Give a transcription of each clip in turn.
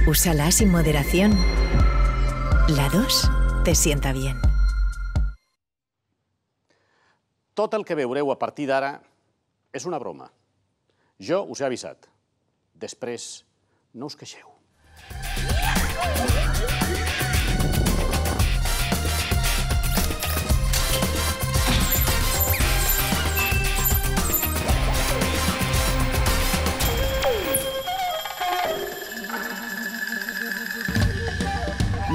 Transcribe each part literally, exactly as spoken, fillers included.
Úsala sin moderación. La dos te sienta bien. Tot el que veureu a partir d'ara és una broma. Jo us he avisat. Després, no us queixeu.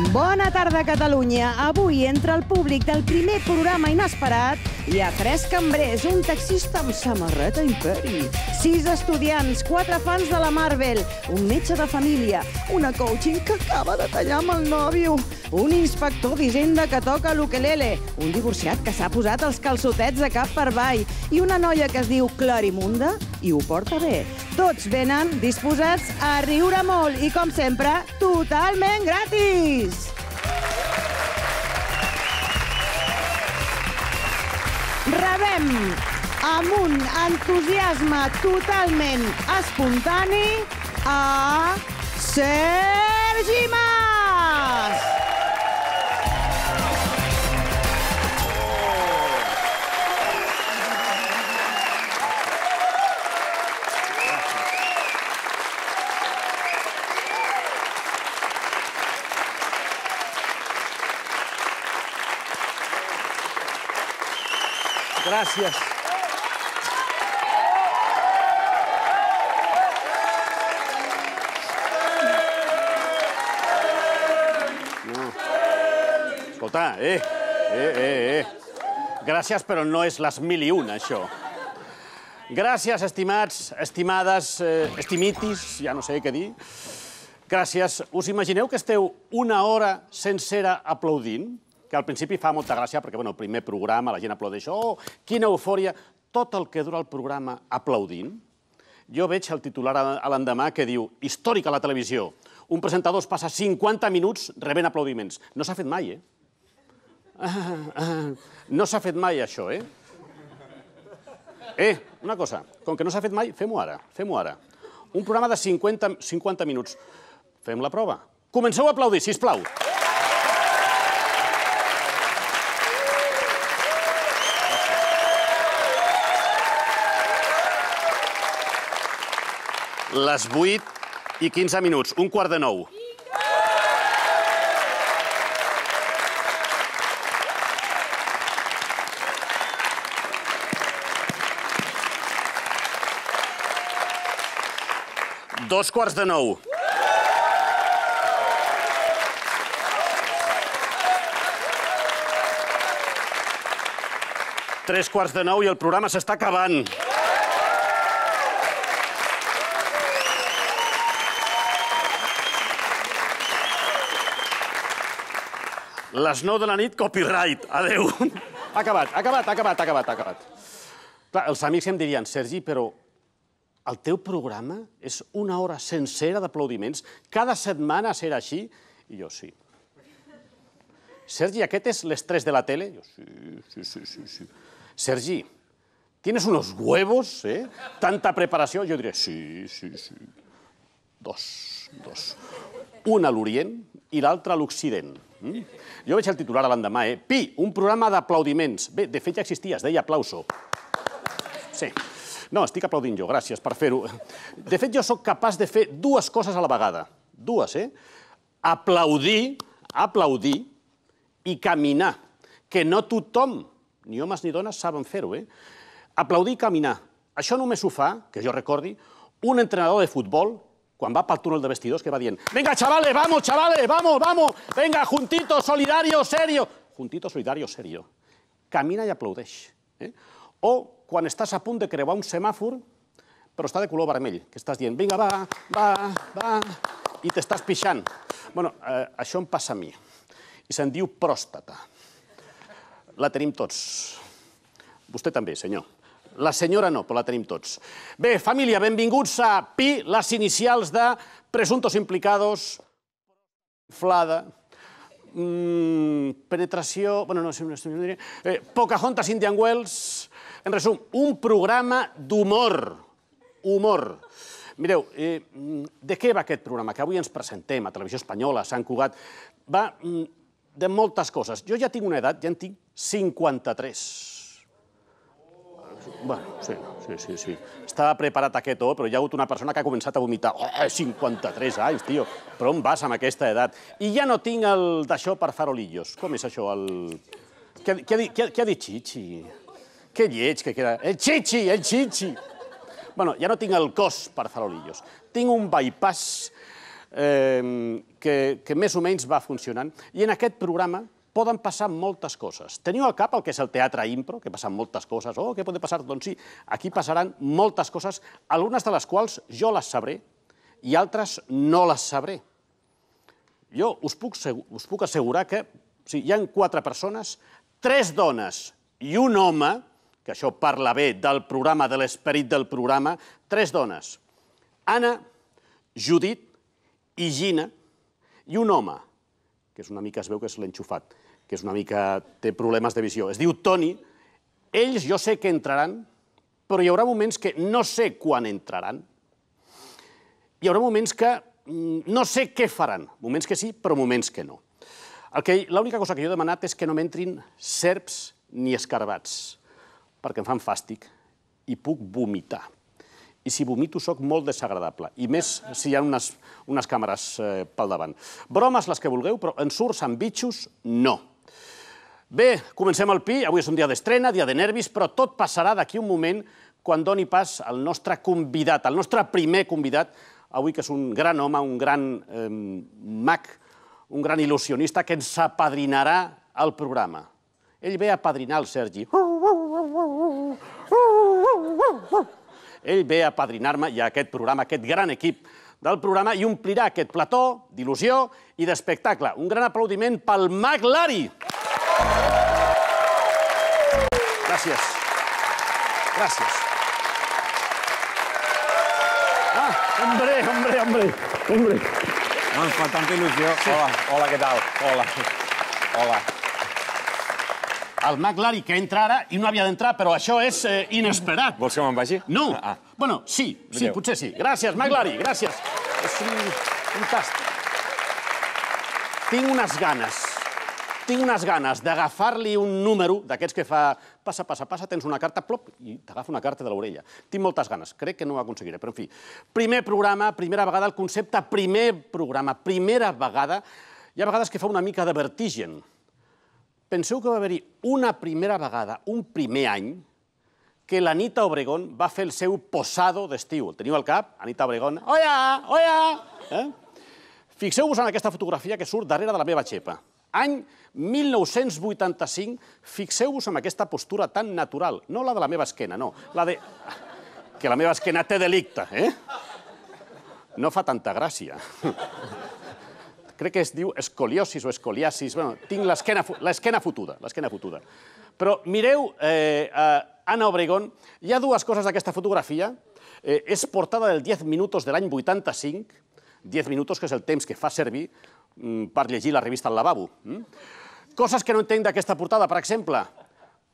Bona tarda, Catalunya. Avui, entre el públic del primer programa inesperat, hi ha tres cambrers, un taxista amb samarreta Imperi, sis estudiants, quatre fans de la Marvel, un metge de família, una coaching que acaba de tallar amb el nòvio, un inspector d'Hisenda que toca l'ukelele, un divorciat que s'ha posat els calçotets de cap per avall i una noia que es diu Clarimunda i ho porta bé. Tots venen disposats a riure molt i, com sempre, totalment gratis! Rebem amb un entusiasme totalment espontani a Sergi Mas! Gràcies. No. Escolta, eh, eh, eh, eh. Gràcies, però no és les mil i una, això. Gràcies, estimats, estimades, eh, estimitis, ja no sé què dir. Gràcies. Us imagineu que esteu una hora sencera aplaudint? Que al principi fa molta gràcia, perquè el primer programa la gent aplaudeix, oh, quina eufòria, tot el que dura el programa aplaudint. Jo veig el titular a l'endemà que diu, històric a la televisió, un presentador es passa cinquanta minuts rebent aplaudiments. No s'ha fet mai, eh? No s'ha fet mai, això, eh? Eh, una cosa, com que no s'ha fet mai, fem-ho ara, fem-ho ara. Un programa de cinquanta minuts. Fem la prova. Comenceu a aplaudir, sisplau. Les vuit i quinze minuts, un quart de nou. Dos quarts de nou. Tres quarts de nou i el programa s'està acabant. Les nou de la nit, copyright. Adéu. Ha acabat, ha acabat, ha acabat, ha acabat, ha acabat. Clar, els amics em dirien, Sergi, però el teu programa és una hora sencera d'aplaudiments? Cada setmana serà així? I jo, sí. Sergi, aquest és l'estrès de la tele? Jo, sí, sí, sí, sí. Sergi, ¿tienes unos huevos, eh? Tanta preparació? Jo diré, sí, sí, sí. Dos, dos. Un a l'Orient i l'altre a l'Occident. Jo veig el titular a l'endemà, eh? Pi, un programa d'aplaudiments. Bé, de fet ja existia, es deia Aplauso. Sí. No, estic aplaudint jo, gràcies per fer-ho. De fet, jo sóc capaç de fer dues coses a la vegada. Dues, eh? Aplaudir, aplaudir i caminar. Que no tothom, ni homes ni dones, saben fer-ho, eh? Aplaudir i caminar. Això només ho fa, que jo recordi, un entrenador de futbol quan va pel túnel de vestidors, que va dient «Venga, chavales, vamos, chavales, vamos, vamos! Venga, juntito, solidario, serio!» Juntito, solidario, serio. Camina i aplaudeix. O quan estàs a punt de creuar un semàfor, però està de color vermell, que estàs dient «Vinga, va, va, va!» i t'estàs pixant. Bueno, això em passa a mi. I se'n diu pròstata. La tenim tots. Vostè també, senyor. La senyora no, però la tenim tots. Bé, família, benvinguts a Pi, les inicials de presuntos implicados, inflada, penetració... Bueno, no sé... Pocahontas Indian Wells... En resum, un programa d'humor. Humor. Mireu, de què va aquest programa? Que avui ens presentem a Televisió Espanyola, a Sant Cugat. Va de moltes coses. Jo ja tinc una edat, ja en tinc cinquanta-tres. Bueno, sí, sí, sí, sí. Estava preparat aquest o, però hi ha hagut una persona que ha començat a vomitar. Oh, cinquanta-tres anys, tio. Però on vas amb aquesta edat? I ja no tinc el d'això per farolillos. Com és això, el... Què ha dit Chichi? Que lleig que queda. El Chichi, el Chichi. Bueno, ja no tinc el cos per farolillos. Tinc un bypass que més o menys va funcionant. I en aquest programa poden passar moltes coses. Teniu al cap el que és el teatre impro, que passen moltes coses. Oh, què pot passar? Doncs sí, aquí passaran moltes coses, algunes de les quals jo les sabré i altres no les sabré. Jo us puc assegurar que hi ha quatre persones, tres dones i un home, que això parla bé del programa, de l'esperit del programa, tres dones, Anna, Judit i Gina, i un home, que és una mica, es veu que és l'enxufat, que és una mica, té problemes de visió. Es diu Toni. Ells jo sé que entraran, però hi haurà moments que no sé quan entraran. Hi haurà moments que no sé què faran. Moments que sí, però moments que no. L'única cosa que jo he demanat és que no m'entrin serps ni escarbats, perquè em fan fàstic i puc vomitar. I si vomito soc molt desagradable, i més si hi ha unes càmeres pel davant. Bromes les que vulgueu, però ensurts amb bitxos, no. Bé, comencem el pi. Avui és un dia d'estrena, dia de nervis, però tot passarà d'aquí un moment quan doni pas al nostre convidat, al nostre primer convidat, avui que és un gran home, un gran mag, un gran il·lusionista que ens apadrinarà al programa. Ell ve a apadrinar el Sergi. Ell ve a apadrinar-me i a aquest programa, aquest gran equip del programa, i omplirà aquest plató d'il·lusió i d'espectacle. Un gran aplaudiment pel Mag Lari. Gràcies. Gràcies. Ah, hombre, hombre, hombre, hombre. No ens fa tanta il·lusió. Hola, hola, què tal? Hola. Hola. El Mag Lari que entra ara i no havia d'entrar, però això és inesperat. Vols que me'n vagi? No. Bueno, sí, sí, potser sí. Gràcies, Mag Lari, gràcies. És fantàstic. Tinc unes ganes, tinc unes ganes d'agafar-li un número d'aquests que fa passa, passa, passa, tens una carta, plop, i t'agafa una carta de l'orella. Tinc moltes ganes, crec que no ho aconseguiré, però en fi. Primer programa, primera vegada, el concepte primer programa, primera vegada, hi ha vegades que fa una mica de vertigen. Penseu que va haver-hi una primera vegada, un primer any, que l'Anita Obregón va fer el seu posado d'estiu. El teniu al cap? Anita Obregón. Oia, oia! Fixeu-vos en aquesta fotografia que surt darrere de la meva xepa. Any mil nou-cents vuitanta-cinc, fixeu-vos en aquesta postura tan natural. No la de la meva esquena, no. La de... Que la meva esquena té delicte, eh? No fa tanta gràcia. Crec que es diu escoliosis o escoliasis. Bueno, tinc l'esquena fotuda, l'esquena fotuda. Però mireu, Anna Obregón, hi ha dues coses d'aquesta fotografia. És portada del diez minutos de l'any vuitanta-cinc, diez minutos, que és el temps que fa servir per llegir la revista al lavabo. Coses que no entenc d'aquesta portada, per exemple,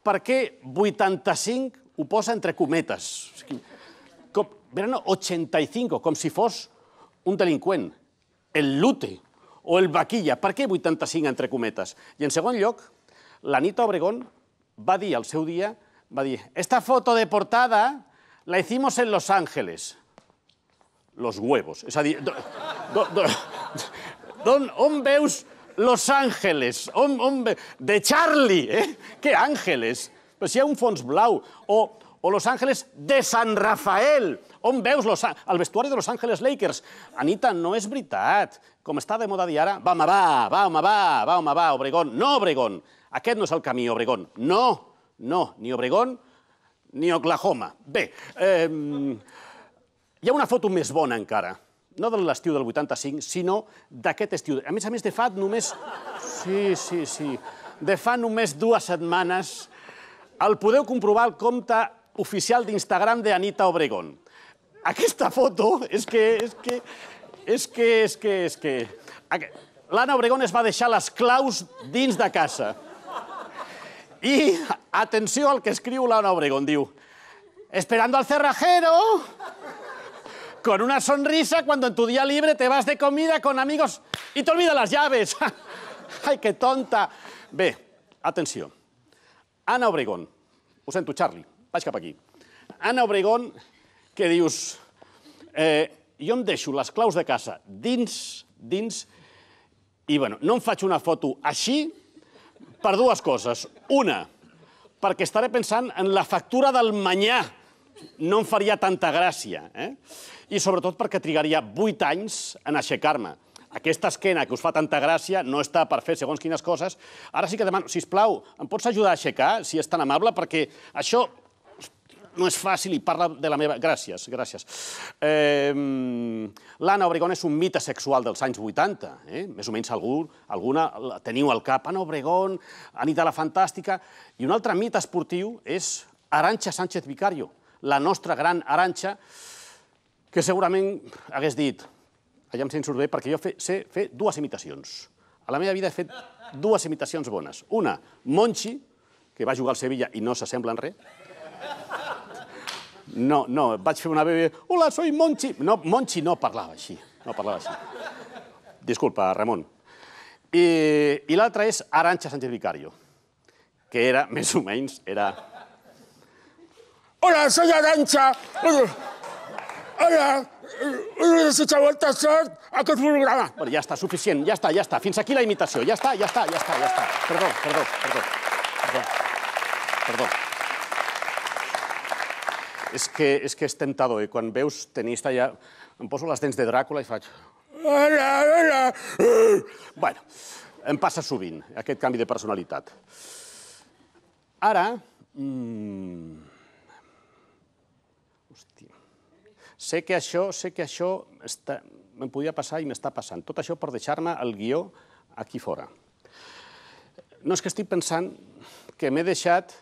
per què vuitanta-cinc ho posa entre cometes? Verano ochenta y cinco, com si fos un delinqüent. El lute o el vaquilla. Per què vuitanta-cinc entre cometes? I en segon lloc, l'Anita Obregón va dir al seu dia, va dir, esta foto de portada la hicimos en Los Ángeles. Los huevos. És a dir, on veus Los Ángeles? De Charlie, eh? Que àngeles? Però si hi ha un fons blau. O Los Ángeles de San Rafael. On veus el vestuari de Los Ángeles Lakers? Anita, no és veritat. Com està de moda dir ara, va, home, va, va, home, va, va, home, va, Obregón. No, Obregón. Aquest no és el camí, Obregón. No, no, ni Obregón ni Oklahoma. Bé, hi ha una foto més bona encara. No de l'estiu del vuitanta-cinc, sinó d'aquest estiu. A més a més, de fa només... Sí, sí, sí. De fa només dues setmanes el podeu comprovar al compte oficial d'Instagram d'Anita Obregón. Aquesta foto és que... És que... És que... És que... És que... L'Anna Obregón es va deixar les claus dins de casa. I atenció al que escriu l'Anna Obregón. Diu, esperando al cerrajero, con una sonrisa cuando en tu día libre te vas de comida con amigos y te olvidas las llaves. Ai, que tonta. Bé, atenció. Anna Obregón. Ho sento, Charlie, vaig cap aquí. Anna Obregón, que dius... Eh, jo em deixo les claus de casa dins, dins, i, bueno, no em faig una foto així per dues coses. Una, perquè estaré pensant en la factura del manyà. No em faria tanta gràcia. Eh? I sobretot perquè trigaria vuit anys en aixecar-me. Aquesta esquena que us fa tanta gràcia no està per fer segons quines coses. Ara sí que demano, sisplau, em pots ajudar a aixecar, si és tan amable, perquè això no és fàcil i parla de la meva... Gràcies, gràcies. Eh, L'Anna Obregón és un mite sexual dels anys vuitanta. Eh? Més o menys algú, alguna teniu al cap. Anna Obregón, Anita la Fantàstica. I un altre mite esportiu és Arantxa Sánchez Vicario, la nostra gran Arantxa, que segurament hagués dit, allà em sent surt bé, perquè jo fe, sé fer dues imitacions. A la meva vida he fet dues imitacions bones. Una, Monchi, que va jugar al Sevilla i no s'assembla en res. No, no, vaig fer una bebè... Hola, soy Monchi. No, Monchi no parlava així. No parlava així. Disculpa, Ramon. I, i l'altra és Arantxa Sánchez Vicario, que era, més o menys, era... Hola, soy Arantxa. Hola, he desitjat molta sort a aquest programa. Bueno, ja està, suficient, ja està, ja està. Fins aquí la imitació. Ja està, ja està, ja està, ja està. Perdó, perdó, perdó. Perdó. Perdó. És que, és que és tentador, eh? Quan veus tenista ja... Em poso les dents de Dràcula i faig... Hola, hola. Bueno, em passa sovint, aquest canvi de personalitat. Ara... Mmm... Hòstia... Sé que això, sé que això està... me'n podia passar i m'està passant. Tot això per deixar-me el guió aquí fora. No, és que estic pensant que m'he deixat...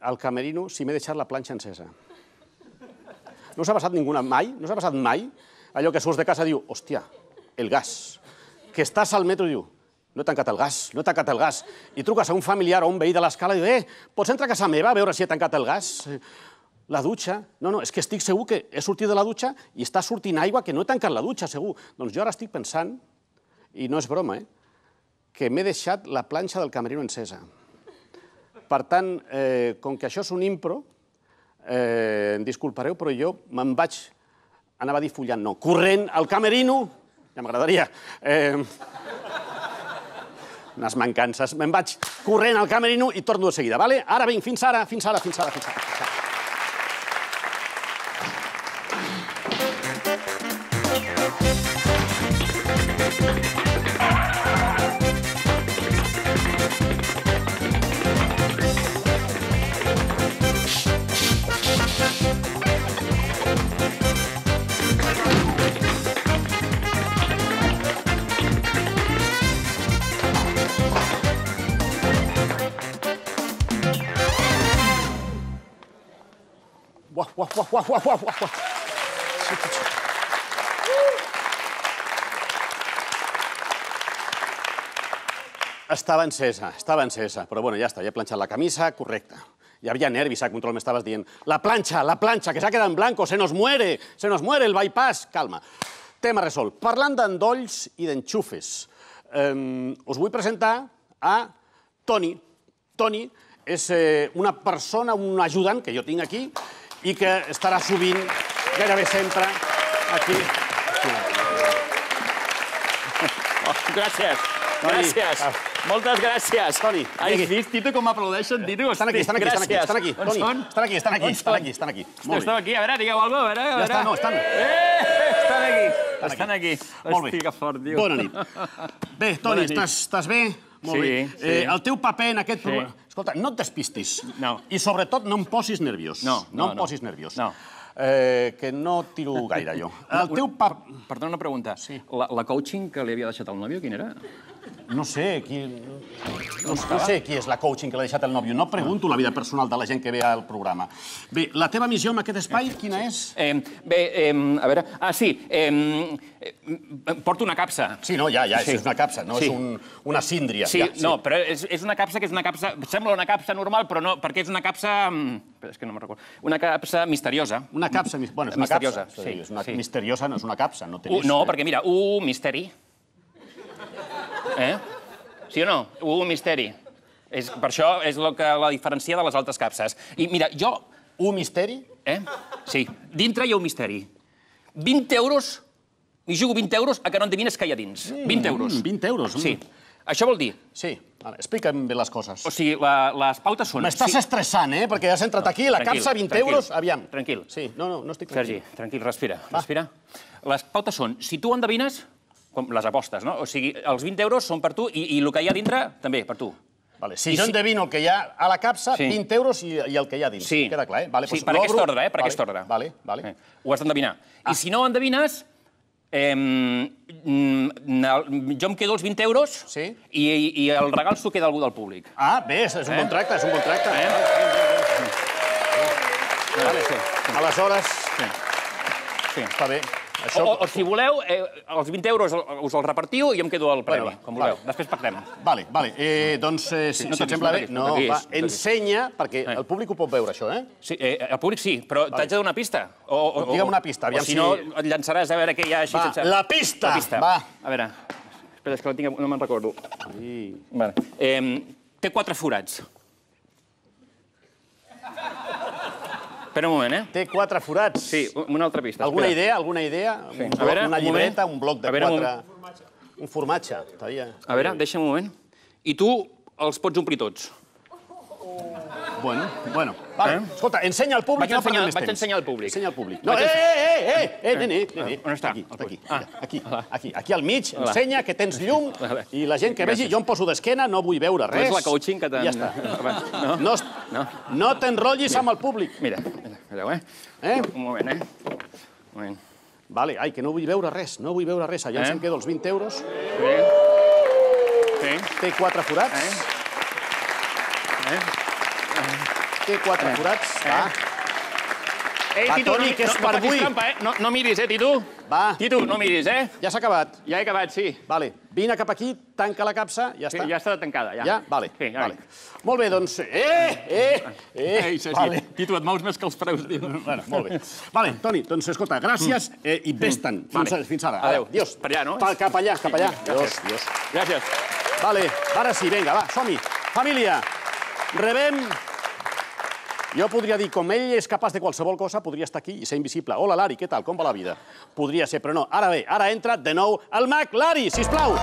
al camerino si m'he deixat la planxa encesa. No us ha passat ninguna mai? No us ha passat mai? Allò que surts de casa i diu, hòstia, el gas. Que estàs al metro i diu, no he tancat el gas, no he tancat el gas. I truques a un familiar o a un veí de l'escala i diu, eh, pots entrar a casa meva a veure si he tancat el gas? La dutxa? No, no, és que estic segur que he sortit de la dutxa i està sortint aigua que no he tancat la dutxa, segur. Doncs jo ara estic pensant, i no és broma, eh, que m'he deixat la planxa del camerino encesa. Per tant, eh, com que això és un impro, eh, em disculpareu, però jo me'n vaig, anava a dir follant, no, corrent al camerino, ja m'agradaria, eh, unes mancances, me'n vaig corrent al camerino i torno de seguida, vale? Ara vinc, fins ara, fins ara, fins ara, fins ara. Fins ara. Uah, uah, uah, uah, uah, uah, uah. Estava encesa, estava encesa, però bueno, ja està, ja he planxat la camisa, correcte. Hi havia nervis, a control m'estaves dient, la planxa, la planxa, que s'ha quedat en blanco, se nos muere, se nos muere el bypass. Calma. Tema resolt. Parlant d'endolls i d'enxufes, eh, us vull presentar a Toni. Toni és eh, una persona, un ajudant que jo tinc aquí, i que estarà sovint, gairebé sempre, aquí. Oh, gràcies, gràcies. Moltes gràcies. Toni, has vist, Tito, com m'aplaudeixen, Tito? Estan aquí, estan aquí, estan aquí, estan aquí. On són? Estan aquí, estan aquí, estan aquí, estan aquí. Estan aquí, a veure, digueu alguna cosa, a veure. Ja està, no, estan... Estan aquí, estan aquí. Molt bé. Hosti, que fort, tio. Bona nit. Bé, Toni, estàs bé? Molt bé. Sí, sí. El teu paper en aquest programa... Escolta, no et despistis. No. I sobretot no em posis nerviós. No, no, no. em posis nerviós. No. Eh, que no tiro gaire, jo. El teu paper... Perdona una pregunta. Sí. La, la coaching que li havia deixat al nòvio, quina era? No sé qui... No, no sé qui és la coaching que l'ha deixat el nòvio. No pregunto la vida personal de la gent que ve al programa. Bé, la teva missió en aquest espai, quina és? Eh, bé, eh, a veure... Ah, sí, eh, porto una capsa. Sí, no, ja, ja, Sí. és una capsa, no Sí. és un, una síndria. Sí, ja, no, però és, és una capsa que és una capsa... Sembla una capsa normal, però no, perquè és una capsa... Però és que no me'n recordo. Una capsa misteriosa. Una capsa... Bueno, és una Misteriosa, capsa. sí, És una sí. misteriosa, no és una capsa. No, té Uh, més, no, eh? perquè mira, un misteri. Eh? Sí o no? Un misteri. És, per això és el que la diferencia de les altres capses. I mira, jo... Un misteri? Eh? Sí, dintre hi ha un misteri. vint euros, m'hi jugo vint euros a que no endevines què hi ha dins. vint euros. Mm, vint euros. Mm. Sí. Això vol dir... Sí, vale, explica'm bé les coses. O sigui, la, les pautes són... M'estàs sí. estressant, eh? Perquè has entrat aquí, la Tranquil, capsa, vint tranquil, euros, aviam. tranquil. Sí, no, no, no estic Sergi, tranquil. tranquil, respira, respira. Les pautes són, si tu endevines, com les apostes, no? O sigui, els vint euros són per tu i, i el que hi ha dintre, també, per tu. Vale, si I jo si- endevino el que hi ha a la capsa, Sí. vint euros i, i el que hi ha dins. Sí. Queda clar, eh? Vale, Sí, doncs per aquest l'obro. ordre, eh? Per Vale, aquest ordre. Vale, vale. Eh, Ho has d'endevinar. I si no ho endevines, eh, mm, jo em quedo els vint euros Sí. i, i el regal s'ho queda algú del públic. Ah, bé, és un Eh? bon tracte, és un bon tracte. Eh? Vale, sí. Aleshores, Sí. Sí. està bé. O, Això... o, o si voleu, eh, els vint euros us els repartiu i jo em quedo el premi, Bueno, va, com vulgueu. vale. Després pactem. Vale, vale. Eh, doncs, eh, si, no si et toquis, sembla no bé... toquis, No, no toquis, va, no toquis. ensenya, perquè Eh. el públic ho pot veure, això, eh? Sí, eh, el públic sí, però t'haig de donar una pista. O, o, o, Digue'm una pista, aviam o si si- no, et llançaràs a veure què hi ha així Va, sense... la pista, La pista. va. A veure, espera, és que la tinc... no me'n recordo. Sí. Vale. Eh, té quatre forats. Espera un moment, eh? Té quatre forats. Sí, una altra pista. Alguna espera. idea, alguna idea? Sí. Un A bloc, veure, una un llibreta, moment. un bloc de A veure, un- quatre... Un formatge. Estaria... A veure, deixa'm un moment. I tu els pots omplir tots. Bueno, bueno. Vale. Eh? Escolta, ensenya al públic. Vaig no ensenyar- perdem més vaig temps. ensenyar al públic. Ensenya al públic. No, Vaig eh, ensenyar- eh, eh, eh, eh, nene, nene. On està? Aquí, aquí, Ah. aquí, Ah. aquí, aquí, aquí al mig. Hola. Ensenya que tens llum Vale. i la gent que vegi, Gràcies. jo em poso d'esquena, no vull veure No res. és la coaching que t'han... I ja està. No? No, es- No? no t'enrotllis amb el públic. Mira, mira, mireu, eh? Eh? Un moment, eh? Un moment. Vale, ai, que no vull veure res, no vull veure res. Allà Eh? ens em quedo els vint euros. Sí. Sí. Té quatre forats. Eh? Té quatre forats. Va, Ei, Va, Titu, Toni, no, que és no, per no facis avui. trampa, eh? No, no miris, eh, Titu? va. Titu, no miris, eh? Ja s'ha acabat. Ja he acabat, sí. Vale, vine cap aquí, tanca la capsa, ja Sí, està. ja està tancada, ja. Ja? Vale, Sí, ja. vale. Molt bé, doncs... Eh, eh, eh, Ei, Sergi, vale. Titu, et mous més que els preus. Bueno, molt bé. Vale, Toni, doncs escolta, gràcies eh, i vés-te'n. Fins, Vale. a- fins ara. Adéu. Adiós. Per allà, no? Pa, cap allà, cap allà. Sí, Adiós, gràcies. adiós. Gràcies. Vale, ara sí, vinga, va, som-hi. Família, rebem... Jo podria dir, com ell és capaç de qualsevol cosa, podria estar aquí i ser invisible. Hola, Lari, què tal? Com va la vida? Podria ser, però no. Ara bé, ara entra de nou el mag. Lari, sisplau.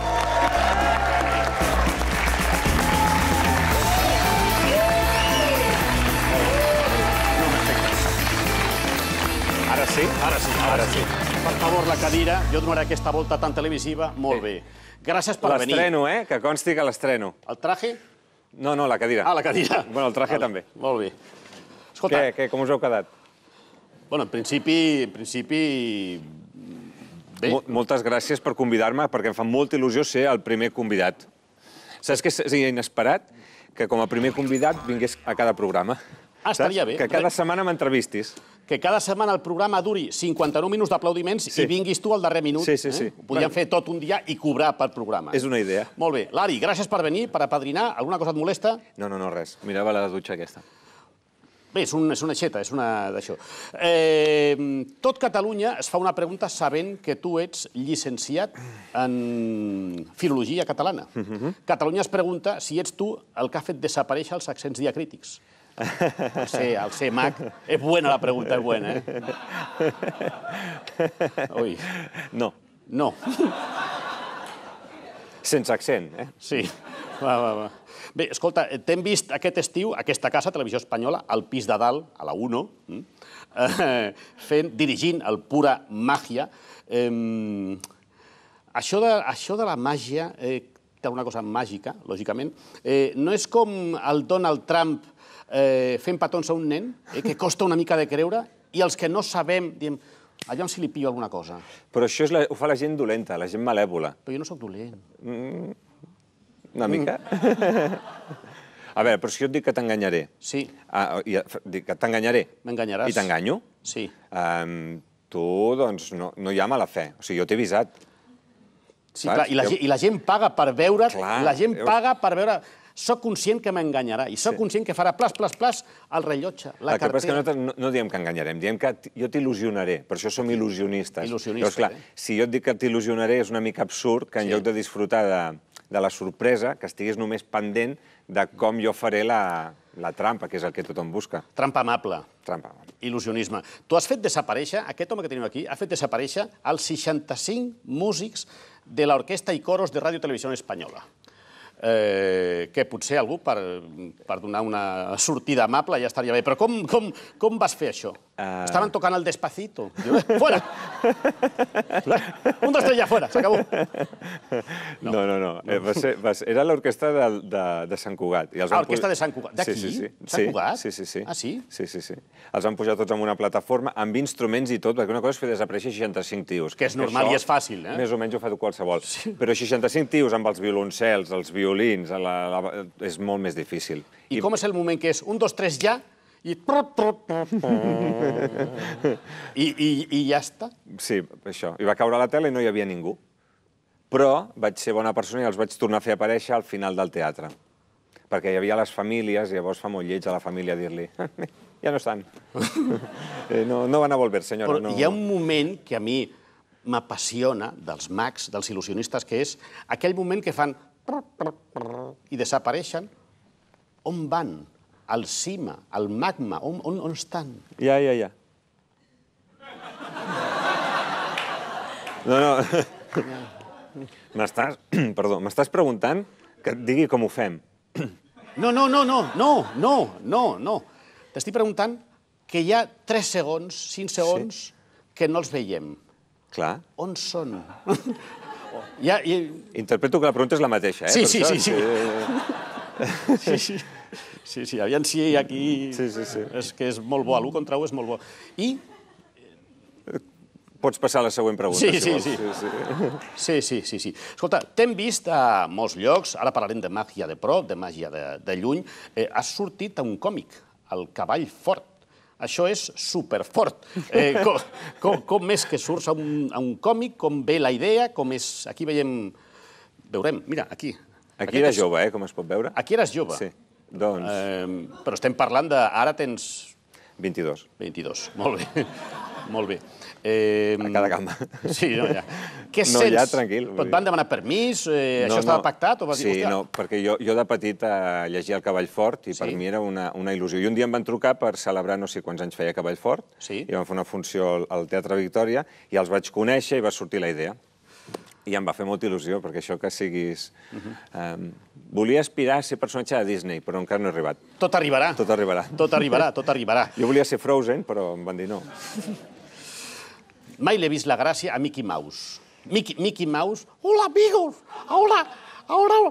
Ara sí? Ara sí, ara sí. Per favor, la cadira. Jo donaré aquesta volta tan televisiva. Molt bé. Gràcies per venir. L'estreno, eh? Que consti que l'estreno. El traje? No, no, la cadira. Ah, la cadira. Bueno, el traje també. Molt bé. Escolta, Què, què, com us heu quedat? bueno, en principi... En principi... Bé, Mo- Moltes gràcies per convidar-me, perquè em fa molta il·lusió ser el primer convidat. Saps què és inesperat? Que com a primer convidat vingués a cada programa. Ah, estaria bé. Que cada setmana m'entrevistis. que cada setmana el programa duri cinquanta-nou minuts d'aplaudiments Sí. i vinguis tu al darrer minut. Sí, sí, sí. Eh? Podríem Bueno. fer tot un dia i cobrar per programa. És una idea. Molt bé. Lari, gràcies per venir, per apadrinar. Alguna cosa et molesta? No, no, no, res. Mirava la dutxa aquesta. Bé, és, un, és una xeta, és una d'això. Eh, tot Catalunya es fa una pregunta sabent que tu ets llicenciat en filologia catalana. Uh-huh. Catalunya es pregunta si ets tu el que ha fet desaparèixer els accents diacrítics. El ser, el ser mag. És buena la pregunta, és buena, eh? Ui. No, No. sense accent, eh? Sí. Va, va, va. Bé, escolta, t'hem vist aquest estiu, aquesta casa, Televisió Espanyola, al pis de dalt, a la Uno, eh, fent, dirigint el Pura Màgia. Eh, això, de, això de la màgia eh, té una cosa màgica, lògicament. Eh, no és com el Donald Trump eh, fent petons a un nen, eh, que costa una mica de creure, i els que no sabem, diem, allà si li pillo alguna cosa. Però això és la, ho fa la gent dolenta, la gent malèvola. Però jo no sóc dolent. una mica. A veure, però si jo et dic que t'enganyaré... Sí. Dic que t'enganyaré... M'enganyaràs. I t'enganyo? Sí. Tu, doncs, no hi ha mala fe. O sigui, jo t'he avisat. Sí, clar, i la gent paga per veure... La gent paga per veure... Soc conscient que m'enganyarà i soc conscient que farà plas, plas, plas el rellotge, la cartera... El que passa és que nosaltres no diem que enganyarem, diem que jo t'il·lusionaré, per això som il·lusionistes. Il·lusionistes, eh? Si jo et dic que t'il·lusionaré és una mica absurd que en lloc de disfrutar de la sorpresa, que estiguis només pendent de com jo faré la trampa, que és el que tothom busca. Trampa amable. Trampa amable. Il·lusionisme. Tu has fet desaparèixer, aquest home que tenim aquí, ha fet desaparèixer els seixanta-cinc músics de l'Orquestra i Coros de Ràdio Televisió Espanyola. Que potser algú, per donar una sortida amable, ja estaria bé. Però com vas fer això? Estaven tocant el Despacito. Fora! Un, dos, tres, ja, fora, s'acabó. No, no, no. Era l'orquestra de Sant Cugat. Ah, l'orquestra de Sant Cugat. D'aquí? Sant Cugat? Sí, sí, sí. Ah, sí? Sí, sí, sí. Els van pujar tots en una plataforma, amb instruments i tot, perquè una cosa és fer desaparèixer seixanta-cinc tios. Que és normal i és fàcil, eh? Més o menys ho fa qualsevol. Però seixanta-cinc tios amb els violoncels, els violins, és molt més difícil. I com és el moment que és un, dos, tres, ja, i... I ja està? Sí, això. I va caure a la tele i no hi havia ningú. Però vaig ser bona persona i els vaig tornar a fer aparèixer al final del teatre. Perquè hi havia les famílies i llavors fa molt lleig a la família dir-li ja no estan. No van a volver, senyora. Però hi ha un moment que a mi m'apassiona dels mags, dels il·lusionistes, que és aquell moment que fan i desapareixen. On van? Al cima, al magma, on estan? Ja, ja, ja. No, no. M'estàs... Perdó, m'estàs preguntant que et digui com ho fem. No, no, no, no, no, no, no, no. T'estic preguntant que hi ha tres segons, cinc segons, que no els veiem. Clar. On són? Interpreto que la pregunta és la mateixa, eh? Sí, sí, sí. Sí, sí. Sí, sí, aviam si aquí... És que és molt bo, l'u contra u és molt bo. I... Pots passar a la següent pregunta, si vols. Sí, sí, sí, sí. Escolta, t'hem vist a molts llocs, ara parlarem de màgia de prop, de màgia de lluny. Has sortit a un còmic, El cavall fort. Això és superfort. Com és que surts a un còmic, com ve la idea, com és... Aquí veiem... Veurem, mira, aquí. Aquí eres jove, eh, com es pot veure. Aquí eres jove. Sí, doncs... Però estem parlant de... Ara tens... vint-i-dos. vint-i-dos, molt bé. Molt bé. A cada cama. Sí, no, ja. Què sents? No, ja, tranquil. Et van demanar permís? Això estava pactat? Sí, no, perquè jo de petit llegia El cavall fort i per mi era una il·lusió. I un dia em van trucar per celebrar no sé quants anys feia Cavall fort i vam fer una funció al Teatre Victòria i els vaig conèixer i va sortir la idea. I em va fer molta il·lusió, perquè això que siguis... Volia aspirar a ser personatge de Disney, però encara no he arribat. Tot arribarà. Tot arribarà. Tot arribarà, tot arribarà. Jo volia ser Frozen, però em van dir no. Mai l'he vist la gràcia a Mickey Mouse. Mickey Mouse... Hola, amigos! Hola! Hola!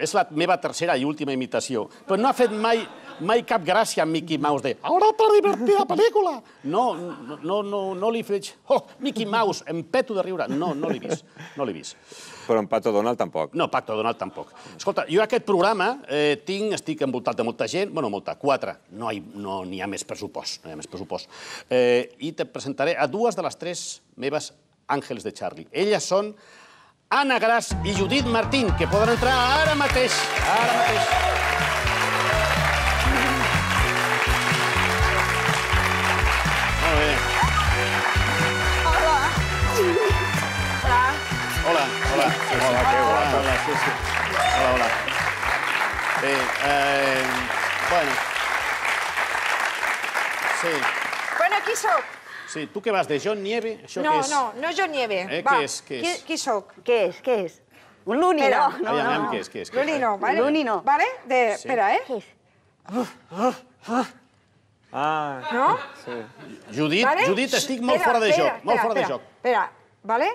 És la meva tercera i última imitació. Però no ha fet mai... Mai cap gràcia a Mickey Mouse de «Ara per divertir la pel·lícula!» No, no li faig «Oh, Mickey Mouse, em peto de riure!» No, no l'he vist, no l'he vist. Però en Pato Donald tampoc. No, Pato Donald tampoc. Escolta, jo aquest programa tinc, estic envoltat de molta gent, bueno, molta, quatre, no n'hi ha més pressupost, no hi ha més pressupost. I te presentaré a dues de les tres meves àngels de Charlie. Elles són Anna Gras i Judit Martín, que poden entrar ara mateix, ara mateix. Hola, hola. Hola, que guapa. Hola, sí, sí. Hola, hola. Bé, bueno. Sí. Bueno, qui sóc? Sí, tu què vas, de John Nieve? No, no, no John Nieve. Què és, què és? Qui sóc? Què és, què és? Un Luni, no? No, no. Què és, què és? Luni no, vale? Luni no. Vale? Espera, eh? Què és? Ah. No? Sí. Judit, Judit, estic molt fora de joc, molt fora de joc. Espera, vale?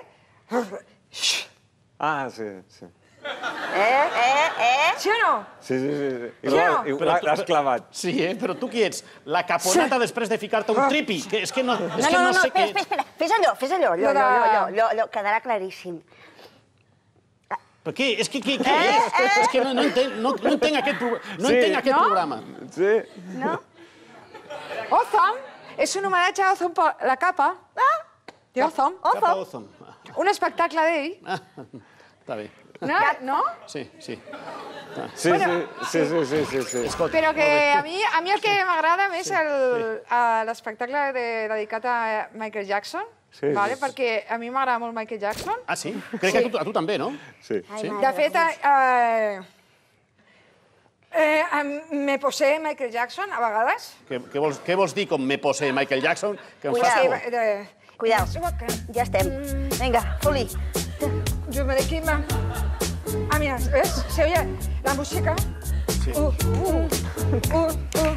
Ah, sí, sí. Eh, eh, eh? Sí o no? Sí, sí, sí. L'has clavat. Sí, eh? Però tu qui ets? La caponata després de ficar-te un tripi? És que no sé què... No, no, no, espera, espera, fes allò, fes allò, allò, allò, allò, quedarà claríssim. Per què? És que què és? És que no entenc aquest programa. Sí. No? Ozone és un homenatge a Ozone per la capa. De Ozone. Capa Ozone. Un espectacle d'ell. Està bé. No? Sí, sí. Sí, sí, sí, sí, sí. Però que a mi el que m'agrada més és l'espectacle dedicat a Michael Jackson, perquè a mi m'agrada molt Michael Jackson. Ah, sí? Crec que a tu també, no? Sí. De fet, me posé Michael Jackson a vegades. Què vols dir com me posé Michael Jackson? Que em fas por. Cuidao, ja estem. Vinga, Juli. Yo me de quema. Ah, mira, ¿ves? Se oye la música. Sí. Uh, uh, uh, uh.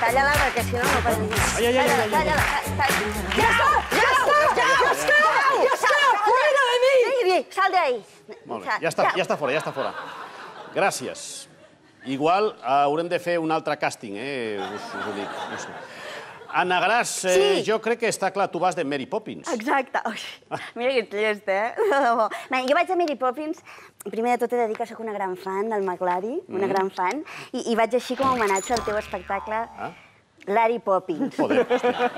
Talla-la, perquè si no no pots dir. Ai, ai, ai, ai. Talla-la, talla-la. ¡Ya está! ¡Ya está! ¡Ya está! ¡Ya está! ¡Fuera de mí! Sigui, sal d'ahí. Molt bé, ja està fora, ja està fora. Gràcies. Igual haurem de fer un altre càsting, eh? Us ho dic, no sé. Anna Gras, jo crec que està clar, tu vas de Mary Poppins. Exacte. Mira que ets llest, eh? Jo vaig a Mary Poppins, primer de tot he de dir que sóc una gran fan del McLary, una gran fan, i vaig així com a homenatge al teu espectacle Larry Poppins. Joder, hòstia.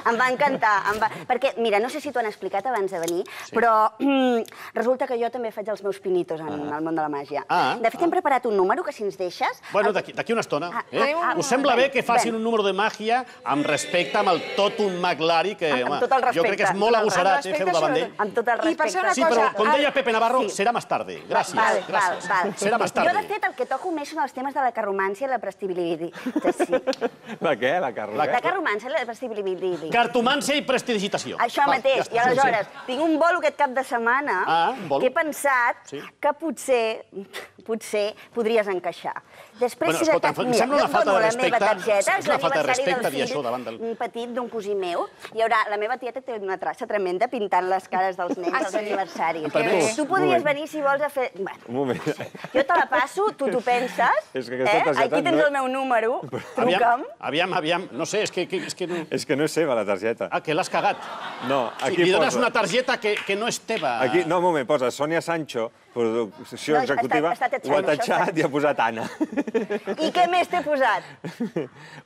Em va encantar, perquè, mira, no sé si t'ho han explicat abans de venir, però resulta que jo també faig els meus pinitos en el món de la màgia. De fet, hem preparat un número que, si ens deixes... Bueno, d'aquí una estona. Us sembla bé que facin un número de màgia amb respecte amb el Totum McLary, que jo crec que és molt agosarat fer-ho davant d'ell. Amb tot el respecte. Sí, però, com deia Pepe Navarro, serà més tarda. Gràcies, gràcies. Serà més tarda. Jo, de fet, el que toco més són els temes de la carromància i la prestibilitat. La què? La carromància? La carromància i la prestibilitat. Cartomància i prestidigitació. Això mateix. I aleshores, tinc un bolo aquest cap de setmana que he pensat que potser, potser podries encaixar. Després, si de cas, mira, jo et dono la meva targeta, és l'aniversari del fill, un petit d'un cosí meu. Hi haurà, la meva tieta té una traça tremenda pintant les cares dels nens als aniversaris. Tu podries venir, si vols, a fer... Un moment. Jo te la passo, tu t'ho penses, aquí tens el meu número, truca'm. Aviam, aviam, no sé, és que... És que no és seva, la targeta. Ah, que l'has cagat. No, aquí posa... Li dones una targeta que no és teva. No, un moment, posa Sònia Sancho, producció executiva, ho ha tatxat i ha posat Anna. I què més t'he posat?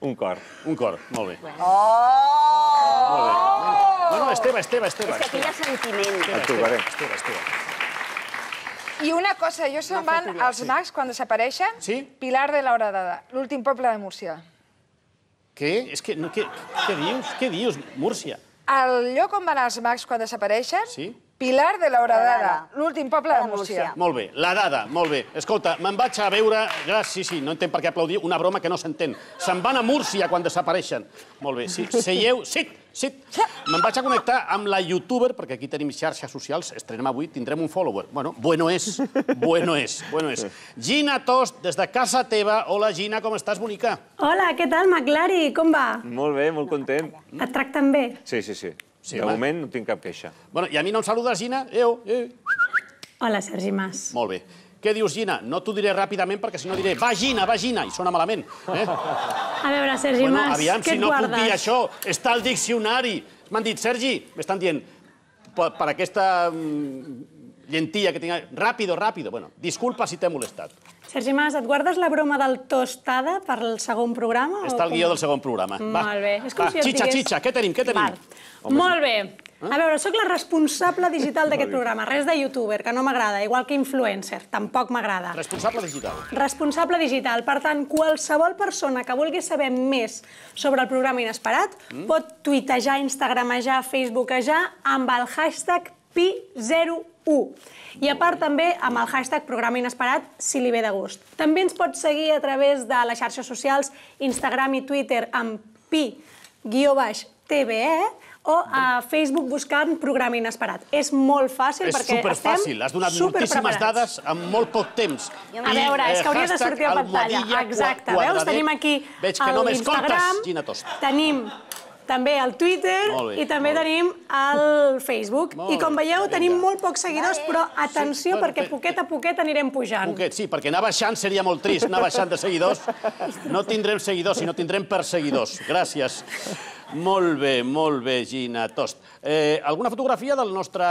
Un cor. Un cor, molt bé. Oh! Molt bé. No, no, és teva, és teva, és teva. És que aquí hi ha sentiment. Et tocaré. És teva, és teva. I una cosa, jo se'n van als mags quan desapareixen. Sí? Pilar de la Horadada, l'últim poble de Múrcia. Què? És que... Què dius? Què dius, Múrcia? El lloc on van els mags quan desapareixen... Sí? Pilar de la Horadada, l'últim poble de Múrcia. Molt bé, la dada, molt bé. Escolta, me'n vaig a veure... Sí, sí, no entenc per què aplaudir una broma que no s'entén. Se'n van a Múrcia quan desapareixen. Molt bé, sí, seieu... Sit, sit. Me'n vaig a connectar amb la youtuber, perquè aquí tenim xarxes socials, estrenem avui, tindrem un follower. Bueno, bueno és, bueno és, bueno és. Gina Tost, des de casa teva. Hola, Gina, com estàs, bonica? Hola, què tal, McLary? Com va? Molt bé, molt content. Et tracten bé? Sí, sí, sí. De moment no tinc cap queixa. Bueno, i a mi no em saludes, Gina? Eo, eh. Hola, Sergi Mas. Molt bé. Què dius, Gina? No t'ho diré ràpidament perquè si no diré va, Gina, va, Gina, i sona malament. A veure, Sergi Mas, què et guardes? Si no puc dir això, està al diccionari. M'han dit, Sergi, m'estan dient, per aquesta llentilla que tinc... Ràpido, ràpido. Bueno, disculpa si t'he molestat. Sergi Mas, et guardes la broma del tostada per al segon programa? Està al guió del segon programa. Molt bé. És com si et digués... Xitxa, xitxa, què tenim, què tenim? Molt bé. A veure, sóc la responsable digital d'aquest programa. Res de youtuber, que no m'agrada, igual que influencer, tampoc m'agrada. Responsable digital. Responsable digital. Per tant, qualsevol persona que vulgui saber més sobre el programa Inesperat pot tuitejar, instagramejar, facebookejar amb el hashtag pi zero u. I a part també amb el hashtag programa inesperat, si li ve de gust. També ens pots seguir a través de les xarxes socials, Instagram i Twitter amb pi guió baix T V E o a Facebook buscant programa inesperat. És molt fàcil perquè estem superpreparats. És superfàcil, has donat moltíssimes dades en molt poc temps. A veure, és que hauria de sortir a pantalla. Exacte, veus? Tenim aquí l'Instagram, tenim també al Twitter i també tenim al Facebook. I com veieu, tenim molt pocs seguidors, però atenció, perquè poquet a poquet anirem pujant. Poquet, sí, perquè anar baixant seria molt trist, anar baixant de seguidors. No tindrem seguidors, sinó tindrem perseguidors. Gràcies. Molt bé, molt bé, Gina Tost. Alguna fotografia del nostre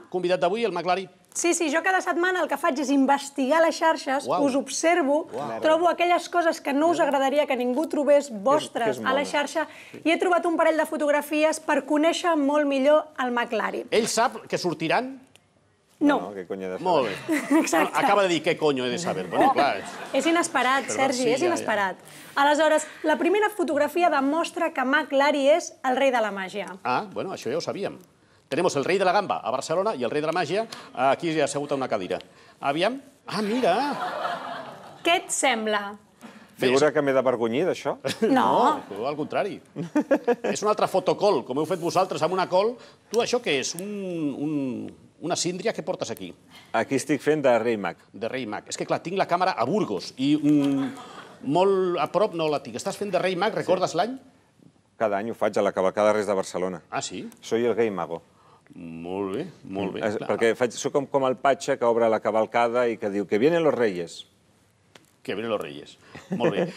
convidat d'avui, el McLary? Sí, sí, jo cada setmana el que faig és investigar les xarxes, us observo, trobo aquelles coses que no us agradaria que ningú trobés vostres a la xarxa i he trobat un parell de fotografies per conèixer molt millor el McLary. Ell sap que sortiran? No. Molt bé. Acaba de dir què conyo he de saber. És inesperat, Sergi, és inesperat. Aleshores, la primera fotografia demostra que McLary és el rei de la màgia. Ah, bueno, això ja ho sabíem. Tenemos el rei de la gamba a Barcelona i el rei de la màgia aquí assegut a una cadira. Aviam. Ah, mira! Què et sembla? Figura que m'he d'avergonyir d'això? No. No, al contrari. És un altre fotocol, com heu fet vosaltres amb una col. Tu, això què és? Una síndria que portes aquí? Aquí estic fent de rei mag. De rei mag. És que, clar, tinc la càmera a Burgos i molt a prop no la tinc. Estàs fent de rei mag, recordes l'any? Cada any ho faig a la cavalcada de Reis de Barcelona. Ah, sí? Soy el rei mago. Molt bé, molt bé. Perquè soc com el patxa que obre la cavalcada i que diu que vienen los reyes. Que vienen los reyes. Molt bé.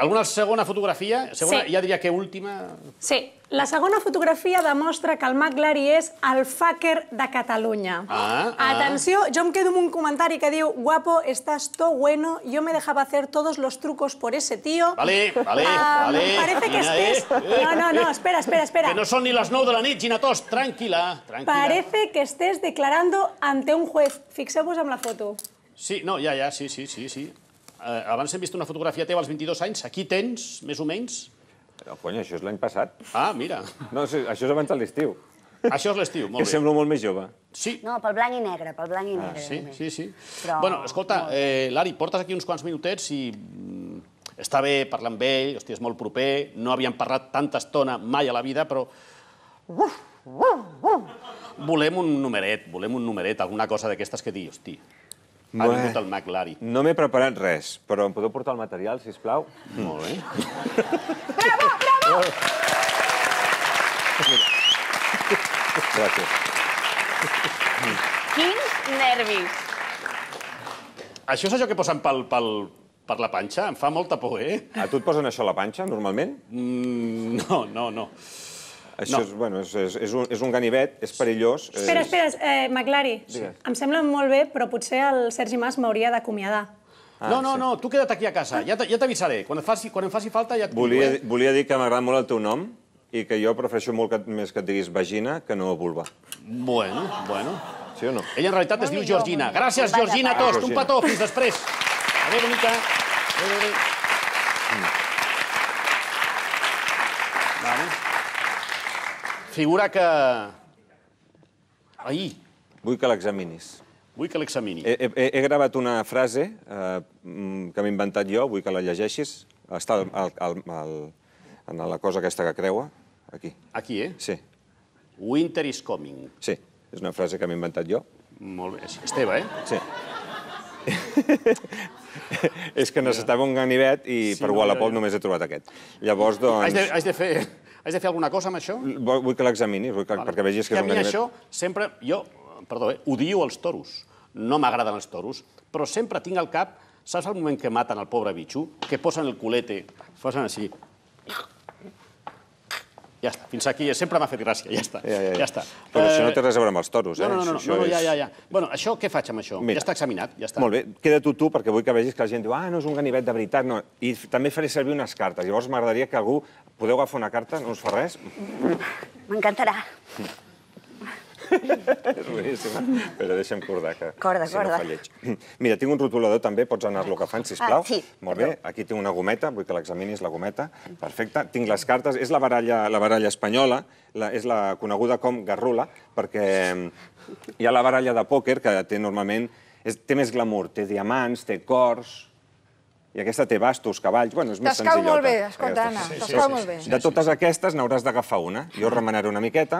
Alguna segona fotografia? Ja diria que última... Sí. La segona fotografia demostra que el McLary és el fucker de Catalunya. Atenció, jo em quedo amb un comentari que diu guapo, estás todo bueno, yo me dejaba hacer todos los trucos por ese tío. Vale, vale, vale. Parece que estés... No, no, no, espera, espera, espera. Que no son ni las nou de la nit, Gina Tost, tranquil·la, tranquil·la. Parece que estés declarando ante un juez. Fixeu-vos amb la foto. Sí, no, ja, ja, sí, sí, sí, sí. Abans hem vist una fotografia teva als vint-i-dos anys. Aquí tens, més o menys... No, cony, això és l'any passat. Ah, mira. No, això és abans de l'estiu. Això és l'estiu, molt bé. Que semblo molt més jove. Sí. No, pel blanc i negre, pel blanc i negre. Sí, sí, sí. Bueno, escolta, Lari, portes aquí uns quants minutets i està bé parlar amb ell, hòstia, és molt proper, no havíem parlat tanta estona mai a la vida, però... Volem un numeret, volem un numeret, alguna cosa d'aquestes que dir, hòstia, ha vingut el McLary. No m'he preparat res, però em podeu portar el material, sisplau? Molt bé. Bravo, bravo! Gràcies. Quins nervis. Això és allò que posen per la panxa? Em fa molta por, eh? A tu et posen això a la panxa, normalment? No, no, no. Això és, bueno, és un ganivet, és perillós. Espera, espera, McLary, em sembla molt bé, però potser el Sergi Mas m'hauria d'acomiadar. No, no, no, tu queda't aquí a casa, ja t'avisaré. Quan em faci falta ja et dic. Volia dir que m'agrada molt el teu nom i que jo prefereixo molt més que et diguis vagina que no vulva. Bueno, bueno. Sí o no? Ella en realitat es diu Georgina. Gràcies, Georgina Tost. Un petó, fins després. Adéu, bonica. Adéu, adéu. Vale. Figura que... Ahir. Vull que l'examinis. Vull que l'examini. He gravat una frase que m'he inventat jo, vull que la llegeixis. Està en la cosa aquesta que creua, aquí. Aquí, eh? Sí. Winter is coming. Sí, és una frase que m'he inventat jo. Molt bé, és teva, eh? Sí. És que necessitava un ganivet i per Wallapop només he trobat aquest. Llavors, doncs... Haig de fer... Has de fer alguna cosa amb això? Vull que l'examinis, perquè vegis que és un ganivet. Que a mi això sempre... Jo, perdó, eh, odio els toros. No m'agraden els toros, però sempre tinc al cap, saps el moment que maten el pobre bitxo? Que posen el culete, posen així. Ja està, fins aquí. Sempre m'ha fet gràcia, ja està. Ja està. Però això no té res a veure amb els toros, eh? No, no, no, ja, ja, ja. Bueno, això què faig amb això? Ja està examinat, ja està. Molt bé, queda-t'ho tu, perquè vull que vegis que la gent diu ah, no és un ganivet de veritat, no. I també faré servir unes cartes. Llavors m'agradaria que algú... Podeu agafar una carta? No us fa res? M'encantarà. És boníssima. Però deixa'm cordar que... Corda, corda. Mira, tinc un rotulador també, pots anar-lo agafant, sisplau. Ah, sí. Molt bé, aquí tinc una gometa, vull que l'examinis, la gometa. Perfecte. Tinc les cartes, és la baralla espanyola, és la coneguda com garrula, perquè hi ha la baralla de pòquer que té normalment... Té més glamour, té diamants, té cors... I aquesta té bastos, cavalls... Bueno, és més senzillota. T'escau molt bé, escolta, Anna, t'escau molt bé. De totes aquestes n'hauràs d'agafar una. Jo remenaré una miqueta.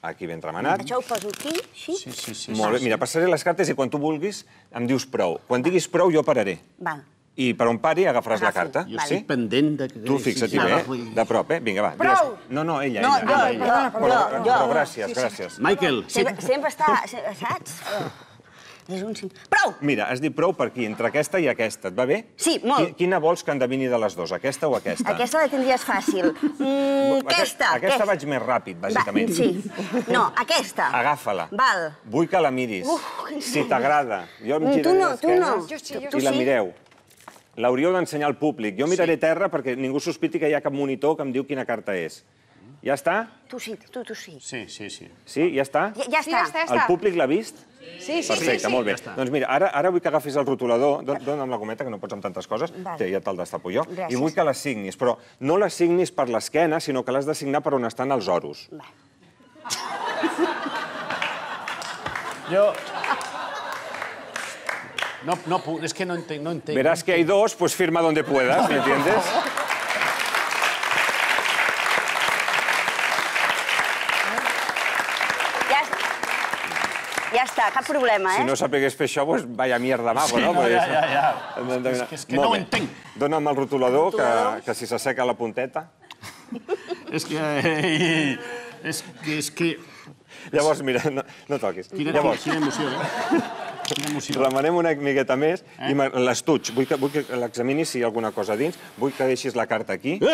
Aquí ben remenat. Això ho poso aquí, així? Sí, sí. Molt bé, mira, passaré les cartes i quan tu vulguis em dius prou. Quan diguis prou jo pararé. Va. i per on pari agafaràs la carta. Jo estic pendent de... Tu fixa't-hi bé, de prop, eh? Vinga, va. Prou! No, no, ella, No, ella. jo, jo, jo. Però gràcies, gràcies. Michael, Sempre està, saps? És un... Prou! Mira, has dit prou per aquí, entre aquesta i aquesta. Et va bé? Sí, molt. Quina vols que endevini de les dues, aquesta o aquesta? Aquesta la tindries fàcil. Aquesta. Aquesta vaig més ràpid, bàsicament. Sí. No, aquesta. Agafa-la. Val. Vull que la miris. Si t'agrada. Jo em Tu no, tu no. I la mireu. L'hauríeu d'ensenyar al públic. Jo miraré terra perquè ningú sospiti que hi ha cap monitor que em diu quina carta és. Ja està? Tu sí, tu, tu sí. Sí, sí, sí. Sí, ja està? Ja està. El públic l'ha vist? Sí, sí, Perfecte, molt bé. Doncs mira, ara vull que agafis el rotulador, dona'm la gometa, que no pots amb tantes coses, ja te'l destapo jo, i vull que l'assignis, però no l'assignis per l'esquena, sinó que l'has d'assignar per on estan els oros. Jo... No, no, es que no entenc, no entenc. Verás que hay dos, pues firma donde puedas, ¿me entiendes? Ja està, cap problema, eh? Si no sapigués fer això, doncs vaya mierda mago, no? Ja, ja, ja. És que no ho entenc. Dóna'm el rotulador, que si s'asseca la punteta. És que... És que... És que... Llavors, mira, no toquis. Quina emoció, eh? Remenem una miqueta més i l'estuig. Vull que l'examinis si hi ha alguna cosa dins. Vull que deixis la carta aquí. No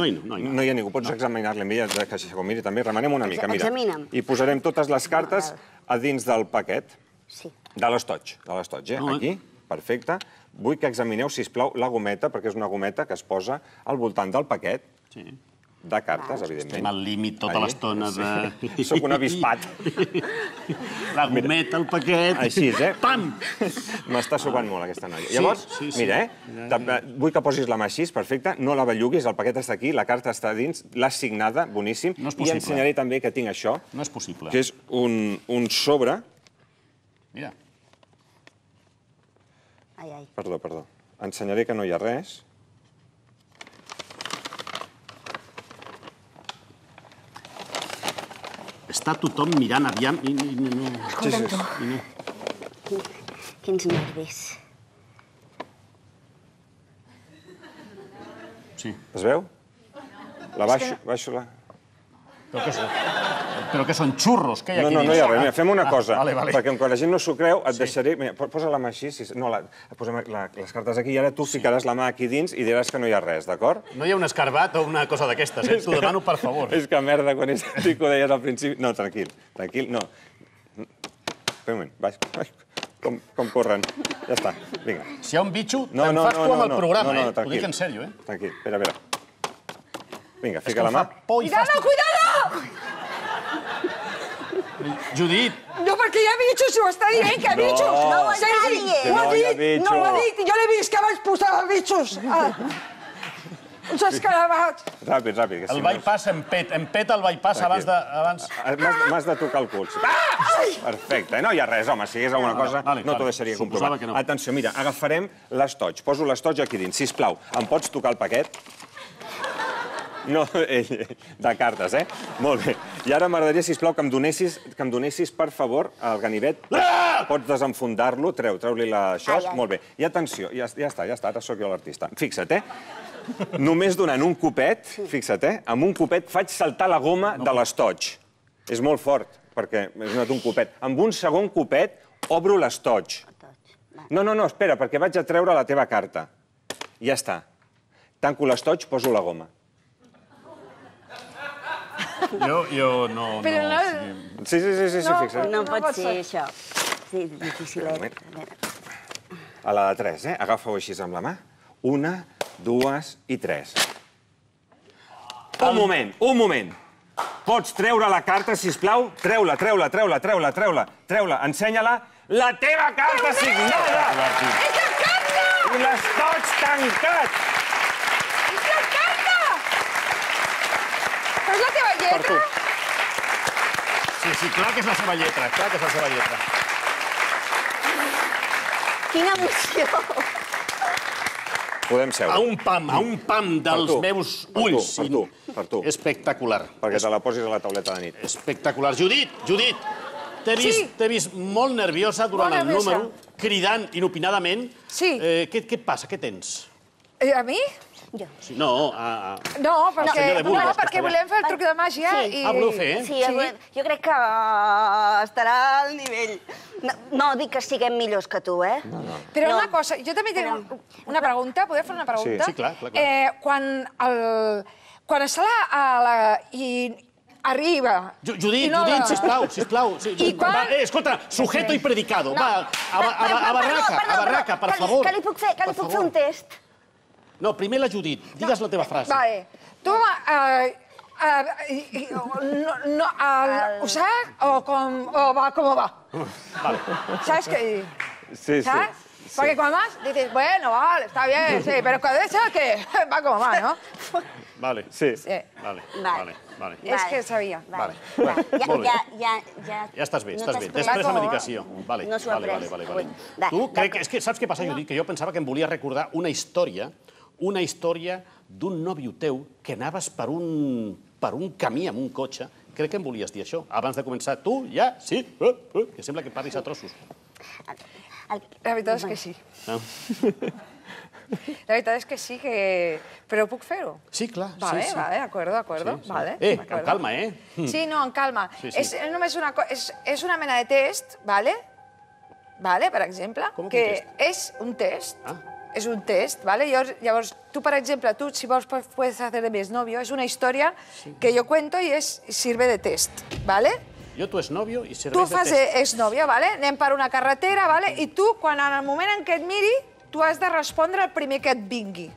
hi ha. No hi ha ningú. Pots examinar-la amb ella, que s'ho miri també. Remenem una mica, mira. Examina'm. I posarem totes les cartes a dins del paquet. Sí. De l'estoig. De l'estoig, eh? Aquí. Perfecte. Vull que examineu, sisplau, la gometa, perquè és una gometa que es posa al voltant del paquet. Sí. De cartes, evidentment. Estem al límit tota l'estona de... Soc un avispat. La gometa, el paquet... Així, eh? Pam! M'està sucant molt, aquesta noia. Llavors, mira, eh? Vull que posis la mà així, perfecte. No la belluguis, el paquet està aquí, la carta està dins, l'has signada, boníssim. No és possible. I ensenyaré també que tinc això. No és possible. Que és un sobre... Mira. Ai, ai. Perdó, perdó. Ensenyaré que no hi ha res. Està tothom mirant aviam i... Escolta'm tu. Quins nervis. Sí. Es veu? La baixo, baixo la... Però què són? Però què són xurros? Què hi ha aquí dins? No, no, no hi ha res. Mira, fem una cosa. Vale, vale. Perquè quan la gent no s'ho creu, et deixaré... Mira, posa la mà així. No, posem les cartes aquí i ara tu ficaràs la mà aquí dins i diràs que no hi ha res, d'acord? No hi ha un escarbat o una cosa d'aquestes, eh? T'ho demano, per favor. És que merda, quan és que ho deies al principi... No, tranquil, tranquil, no. Espera un moment, baix. Com corren. Ja està, vinga. Si hi ha un bitxo, te'n fas tu amb el programa, eh? Ho dic en sèrio, eh? Tranquil, espera, espera. Vinga, fica la mà. Cuidado, cuidado! Judit! No, perquè hi ha bitxos, si ho està dient, que hi ha bitxos! No ho està dient! Ho ha dit, no ho ha dit, jo l'he vist que vaig posar bitxos. Uns escarabats. Ràpid, ràpid. El bypass em pet, em pet el bypass abans de... M'has de tocar el cul. Perfecte, no hi ha res, home, si hi hagués alguna cosa no t'ho deixaria comprovar. Atenció, mira, agafarem l'estoig, poso l'estoig aquí dins, sisplau, em pots tocar el paquet? No, ell, de cartes, eh? Molt bé. I ara m'agradaria, sisplau, que em donessis, que em donessis, per favor, el ganivet. Pots desenfundar-lo, treu, treu-li això. Molt bé. I atenció, ja està, ja està, ara sóc jo l'artista. Fixa't, eh? Només donant un copet, fixa't, eh? Amb un copet faig saltar la goma de l'estoig. És molt fort, perquè he donat un copet. Amb un segon copet obro l'estoig. No, no, no, espera, perquè vaig a treure la teva carta. Ja està. Tanco l'estoig, poso la goma. Jo, jo no... Però no... Sí, sí, sí, sí, fixa. No pot ser això. Sí, dificilet. A la de tres, eh? Agafa-ho així amb la mà. Una, dues i tres. Un moment, un moment. Pots treure la carta, sisplau? Treu-la, treu-la, treu-la, treu-la, treu-la, treu-la, ensenya-la. La teva carta signada! És la carta! I l'estoig tancat! És la carta! Però és la teva lletra? Sí, sí, clar que és la seva lletra, clar que és la seva lletra. Quina emoció! Podem seure. A un pam, a un pam dels meus ulls. Per tu, per tu. Espectacular. Perquè te la posis a la tauleta de nit. Espectacular. Judit, Judit, t'he vist molt nerviosa durant el número. cridant inopinadament. Sí. Què et passa? Què tens? A mi? Jo. No, a... No, perquè volem fer el truc de màgia i... Ah, voleu fer, eh? Sí, jo crec que estarà al nivell. No dic que siguem millors que tu, eh? Però una cosa, jo també tinc una pregunta, podeu fer una pregunta? Sí, clar, clar. Quan està la... i arriba... Judit, Judit, sisplau, sisplau. Escolta, sujeto y predicado. Va, a barraca, a barraca, per favor. Què li puc fer? Què li puc fer un test? No, primer la Judit. Digues la teva frase. Vale. Tu... ¿O sea? ¿O va como va? Vale. ¿Sabes qué? Sí, sí. ¿Sabes? Porque cuando más dices, bueno, vale, está bien, sí, pero cuando es que va como va, ¿no? Vale. Sí. Vale, vale, vale. És que sabia. Vale. Molt bé. Ja estàs bé, estàs bé. Després la medicació. Vale, vale, vale. Tu, és que saps què passa, Judit? Que jo pensava que em volia recordar una història una història d'un nòvio teu que anaves per un camí amb un cotxe. Crec que em volies dir això. Abans de començar, tu, ja, sí, que sembla que parlis a trossos. La veritat és que sí. La veritat és que sí, però puc fer-ho? Sí, clar. Vale, vale, d'acord, d'acord. Eh, amb calma, eh? Sí, no, amb calma. És només una cosa, és una mena de test, vale? Vale, per exemple, que és un test. És un test, ¿vale? Llavors, tu, per exemple, tu, si vols, puedes hacer de mi exnovio. És una història que jo cuento i sirve de test, ¿vale? Jo, tu exnovio, i serveix de test. Tu fas exnovio, ¿vale? Anem per una carretera, ¿vale? I tu, quan en el moment en què et miri, tu has de respondre el primer que et vingui.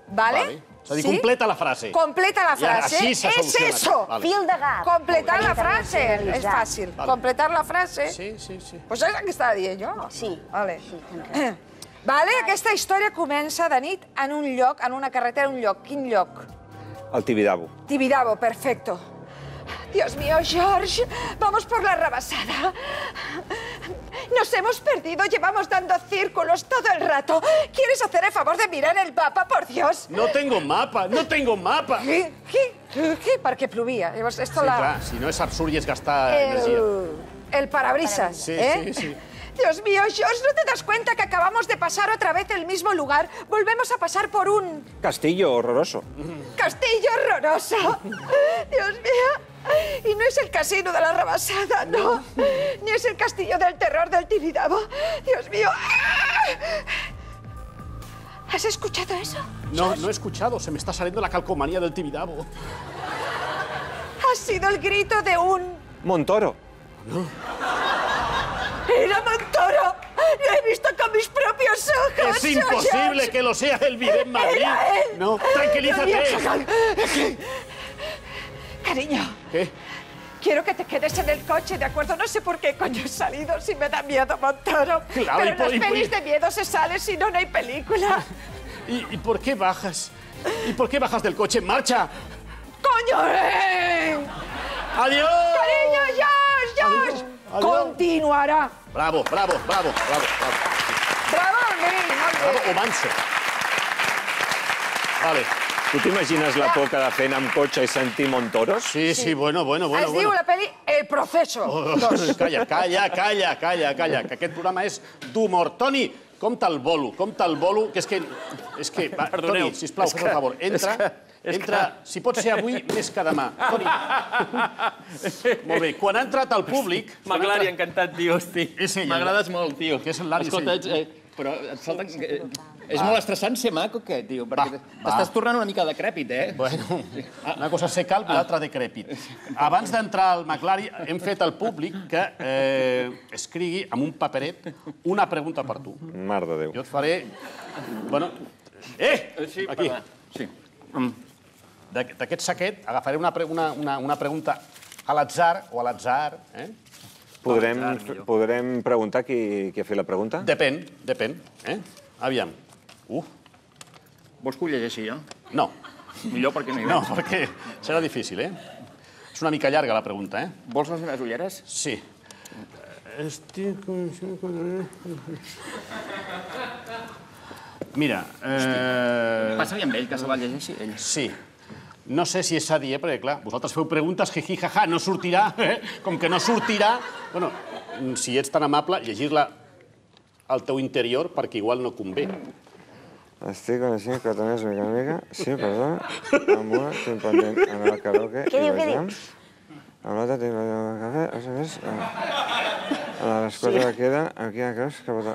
¿Vale? És a dir, completa la frase. Completa la frase. És eso. Fil de gat. Completar la frase. És fàcil. Completar la frase. Sí, sí, sí. Pues és el que estava dient jo. Sí. Vale. Vale, aquesta història comença de nit en un lloc, en una carretera, en un lloc. Quin lloc? El Tibidabo. Tibidabo, perfecto. Dios mío, George, vamos por la rebasada. Nos hemos perdido, llevamos dando círculos todo el rato. ¿Quieres hacer el favor de mirar el mapa, por Dios? No tengo mapa, no tengo mapa. ¿Qué? ¿Qué? ¿Qué? Perquè plovia. Llavors, esto sí, la... clar, si no és absurd i és gastar energia. El parabrisas, sí, ¿eh? Sí, sí. Dios mío, George, ¿no te das cuenta que acabamos de pasar otra vez el mismo lugar? Volvemos a pasar por un... Castillo horroroso. Castillo horroroso. Dios mío. Y no es el casino de la rebasada, no. Ni es el castillo del terror del Tibidabo. Dios mío. ¿Has escuchado eso? No, no he escuchado. Se me está saliendo la calcomanía del Tibidabo. Ha sido el grito de un... Montoro. No. ¡Era Montoro! ¡Lo he visto con mis propios ojos! ¡Es imposible que lo sea el video en Madrid! ¡Era él! No, tranquilízate. Cariño. ¿Qué? Quiero que te quedes en el coche, ¿de acuerdo? No sé por qué coño he salido si me da miedo Montoro. Claro, pero y en por, las y por, pelis de miedo se sale, si no, no hay película. ¿Y, ¿Y por qué bajas? ¿Y por qué bajas del coche? ¡Marcha! ¡Coño! Eh! ¡Adiós! ¡Cariño, Josh! ¡Josh! Adiós. Continuarà. Bravo, bravo, bravo, bravo. Bravo, Miguel. Bravo o manso. Vale. Tu t'imagines la por que de fent amb cotxe i sentir Montoros? Sí, sí, bueno, bueno, bueno. Es diu la peli El Proceso. Oh, calla, calla, calla, calla, calla, que aquest programa és d'humor. Toni, compta el bolo, compta el bolo, que és que... És que va, Toni, sisplau, fes el favor, entra... Entra, si pot ser avui, més que demà. Toni. Molt bé, quan ha entrat al públic... M'agrada, encantat, tio, hosti. M'agrades molt, tio. Que és l'Ari, sí. Escolta, però et falta... És molt estressant ser maco, aquest, tio, perquè t'estàs tornant una mica decrèpit, eh? Bueno, una cosa ser calp i l'altra decrèpit. Abans d'entrar al McLari, hem fet al públic que escrigui amb un paperet una pregunta per tu. Mare de Déu. Jo et faré... Bueno... Eh! Aquí. Sí. D'aquest saquet agafaré una pregunta a l'atzar o a l'atzar. Podrem preguntar qui ha fet la pregunta? Depèn, depèn. Aviam. Uh. Vols que ho llegeixi jo? No. Millor perquè no hi No, perquè serà difícil, eh? És una mica llarga la pregunta, eh? Vols les meves ulleres? Sí. Estic... Mira... Passa-li amb ell, que se la llegeixi ell. Sí. No sé si és adient, perquè, clar, vosaltres feu preguntes, jiji, jaja, no sortirà, eh? Com que no sortirà... Bueno, si ets tan amable, llegir-la al teu interior perquè igual no convé. Estic coneixent cotoners mica en mica. Sí, perdó. Amb una tinc pendent en el karaoke i vegem. Amb l'altra tinc pendent en el cafè. A més, a les quatre que queden, aquí a creus que pot...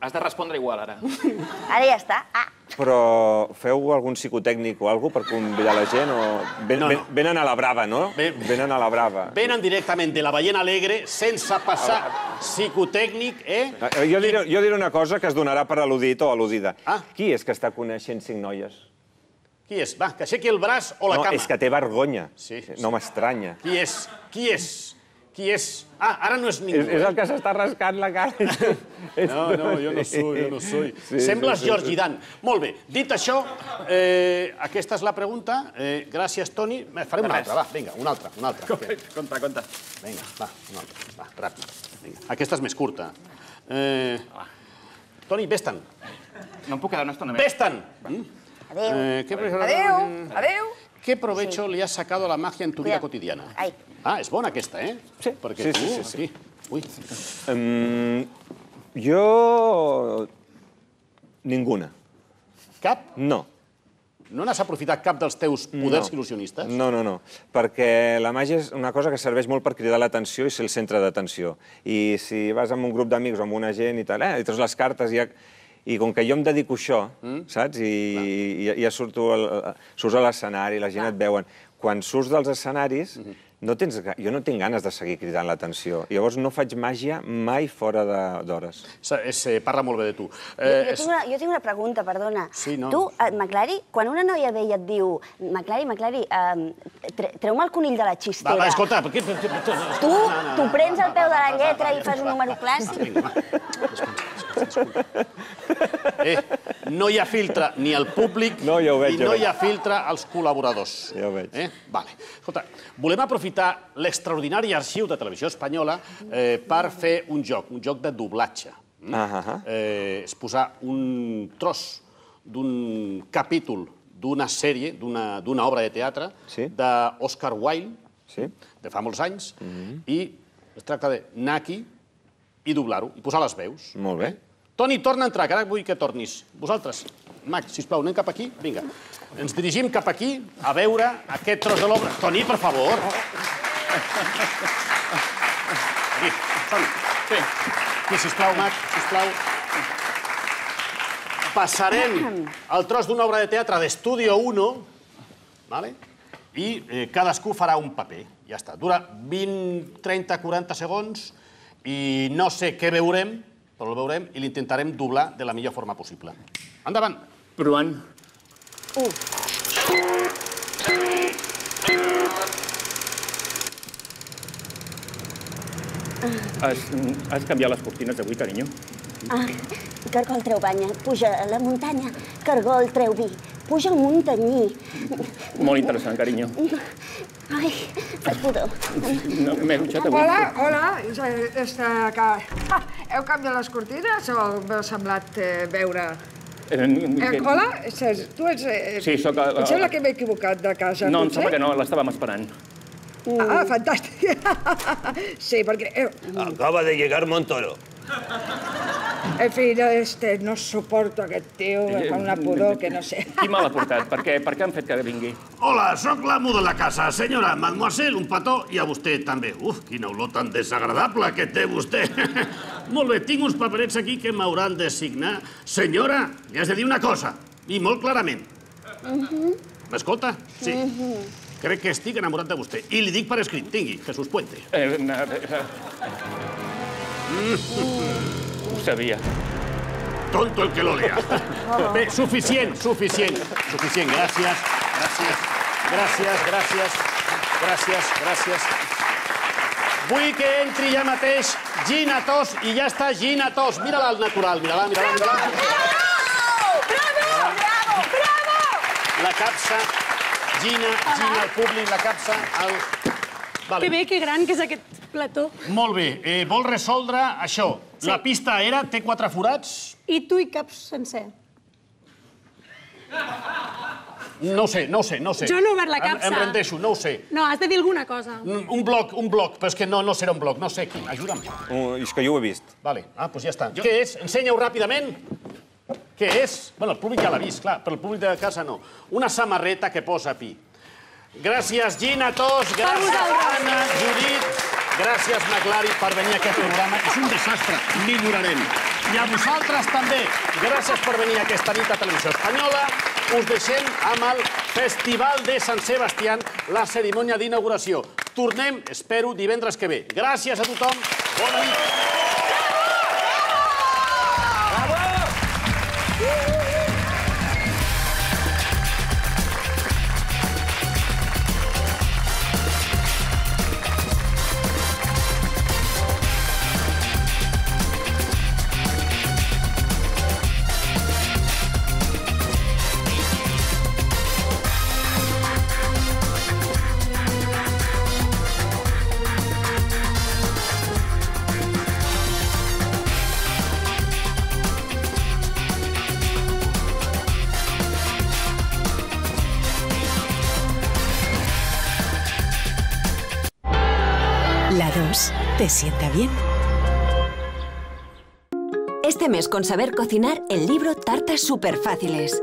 Has de respondre igual, ara. Ara ja està. Però feu algun psicotècnic o alguna cosa per convidar la gent? Venen a la brava, no? Venen a la brava. Venen directament de la Ballena Alegre sense passar psicotècnic, eh? Jo diré una cosa que es donarà per al·ludit o al·ludida. Qui és que està coneixent cinc noies? Qui és? Va, que aixequi el braç o la cama. No, és que té vergonya. No m'estranya. Qui és? Qui és? Qui és? Ah, ara no és ningú. És el que s'està rascant la cara. No, no, jo no soy, jo no soy. Sembles Georgi Dan. Molt bé, dit això, aquesta és la pregunta. Gràcies, Toni. Farem una altra, va, vinga, una altra, una altra. Conta, conta. Vinga, va, una altra, va, ràpid. Aquesta és més curta. Toni, vés-te'n. No em puc quedar una estona més. Vés-te'n! Adéu. Adéu. Adéu. ¿Qué provecho le has sacado a la magia en tu vida cotidiana? Ah, és bona aquesta, eh? Sí. Perquè tu, sí. Ui. Jo... Ninguna. Cap? No. No n'has aprofitat cap dels teus poders il·lusionistes? No, no, no. Perquè la màgia és una cosa que serveix molt per cridar l'atenció i ser el centre d'atenció. I si vas amb un grup d'amics o amb una gent i tal, eh, i treus les cartes i ja... I com que jo em dedico a això, saps? I ja surto a l'escenari, la gent et veuen. Quan surts dels escenaris, jo no tinc ganes de seguir cridant l'atenció. Llavors no faig màgia mai fora d'hores. Parla molt bé de tu. Jo tinc una pregunta, perdona. Tu, Maclari, quan una noia ve i et diu Maclari, Maclari, treu-me el conill de la xistera. Va, escolta... Tu prens el peu de la lletra i fas un número clàssic? Eh, no hi ha filtre ni al públic i no hi ha filtre als col·laboradors. Ja ho veig. Vale. Escolta, volem aprofitar l'extraordinari arxiu de Televisió Espanyola per fer un joc, un joc de doblatge. És posar un tros d'un capítol d'una sèrie, d'una obra de teatre d'Oscar Wilde, de fa molts anys, i es tracta d'anar aquí i doblar-ho, i posar les veus. Molt bé. Toni, torna a entrar, que ara vull que tornis. Vosaltres, Max, sisplau, anem cap aquí? Vinga. Ens dirigim cap aquí a veure aquest tros de l'obra. Toni, per favor. Aquí, Toni. Sí. Aquí, sisplau, Max, sisplau. Passarem el tros d'una obra de teatre d'Estudio uno, i cadascú farà un paper. Ja està. Dura vint, trenta, quaranta segons i no sé què veurem, però el veurem i l'intentarem doblar de la millor forma possible. Endavant. Provant. Un. Has canviat les cortines d'avui, carinyo? Ah, cargol treu banya, puja a la muntanya, cargol treu vi, puja al muntanyí. Molt interessant, carinyo. Ai, faig pudor. M'he dutxat avui. Hola, hola. Heu canviat les cortines o m'heu semblat veure... Hola, tu ets... Sí, soc... Em sembla que m'he equivocat de casa. No, em sembla que no, l'estàvem esperant. Ah, fantàstic. Sí, perquè... Acaba de llegar Montoro. En fi, no suporto aquest tio, em fa una pudor que no sé. Qui me l'ha portat? Per què han fet que vingui? Hola, sóc l'amo de la casa. Senyora, mademoiselle, un petó, i a vostè també. Uf, quina olor tan desagradable que té vostè. Molt bé, tinc uns paperets aquí que m'hauran de signar. Senyora, li has de dir una cosa, i molt clarament. M'escolta? Sí. Crec que estic enamorat de vostè. I li dic per escrit. Tingui, Jesús Puente. Ho sabia. Tonto el que lo lea. Bé, suficient, suficient. Suficient, gràcies. Gràcies. Gràcies, gràcies. Gràcies, gràcies. Vull que entri ja mateix Gina Tos, i ja està Gina Tos. Mira-la al natural, mira-la, mira-la. Bravo! Bravo! Bravo! Bravo! La capsa, Gina, Gina, el públic, la capsa, el... Que bé, que gran que és aquest plató. Molt bé, vol resoldre això. La pista era, té quatre forats. I tu hi caps sencer. No ho sé, no ho sé, no ho sé. Jo no he obert la capsa. Em rendeixo, no ho sé. No, has de dir alguna cosa. Un bloc, un bloc, però és que no serà un bloc, no sé. Ajuda'm. És que jo ho he vist. Vale, ah, doncs ja està. Què és? Ensenya-ho ràpidament. Què és? Bueno, el públic ja l'ha vist, clar, però el públic de casa no. Una samarreta que posa pi. Gràcies, Gina, Tos, gràcies, Anna, Judit, gràcies, Maclari, per venir a aquest programa. És un desastre, millorarem. I a vosaltres també, gràcies per venir a aquesta nit a Televisió Espanyola. Us deixem amb el Festival de Sant Sebastián, la cerimònia d'inauguració. Tornem, espero, divendres que ve. Gràcies a tothom, bona nit. La dos, ¿te sienta bien? Este mes con Saber Cocinar, el libro Tartas Superfáciles.